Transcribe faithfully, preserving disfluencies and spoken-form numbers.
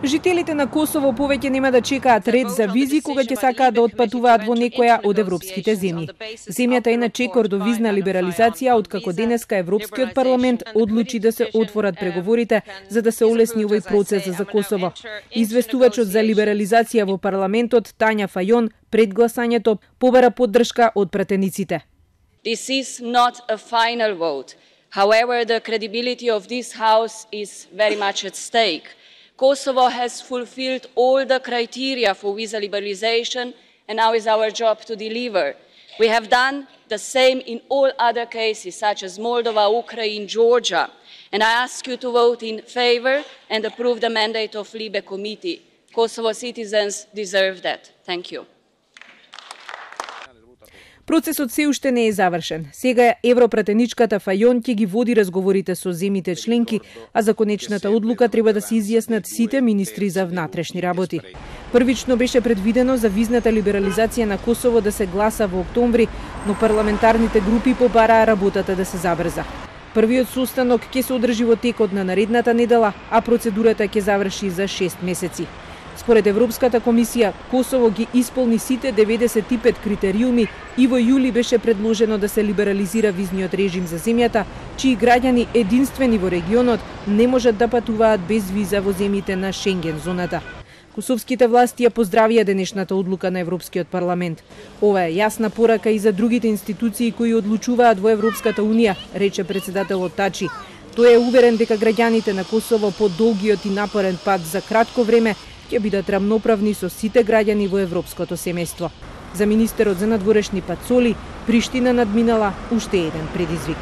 Жителите на Косово повеќе нема да чекаат ред за визи кога ќе сакаат да отпатуваат во некоја од европските земји. Земјата е на чекор до визна либерализација, откако денеска Европскиот парламент одлучи да се отворат преговорите за да се олесни овој процес за Косово. Известувачот за либерализација во парламентот Тања Фајон пред гласањето побара поддршка од пратениците. This is not a final vote. However, the credibility of this House is very much at stake. Kosovo has fulfilled all the criteria for visa liberalization, and now is our job to deliver. We have done the same in all other cases, such as Moldova, Ukraine, Georgia, and I ask you to vote in favor and approve the mandate of Libe Committee. Kosovo citizens deserve that. Thank you. Процесот се уште не е завршен. Сега европратеничката Фајон ќе ги води разговорите со земјите членки, а за конечната одлука треба да се изјаснат сите министри за внатрешни работи. Првично беше предвидено за визната либерализација на Косово да се гласа во октомври, но парламентарните групи побараа работата да се забрза. Првиот состанок ќе се одржи во текот на наредната недела, а процедурата ќе заврши за шест месеци. Според Европската комисија, Косово ги исполни сите деветдесет и пет критериуми и во јули беше предложено да се либерализира визниот режим за земјата, чии граѓани единствени во регионот не можат да патуваат без виза во земјите на Шенген зоната. Косовските власти ја поздравија денешната одлука на Европскиот парламент. Ова е јасна порака и за другите институции кои одлучуваат во Европската унија, рече председателот Тачи. Тој е уверен дека граѓаните на Косово по долгиот и напорен пат за кратко време ќе бидат рамноправни со сите граѓани во европското семејство. За министерот за надворешни Пацоли, Приштина надминала уште еден предизвик.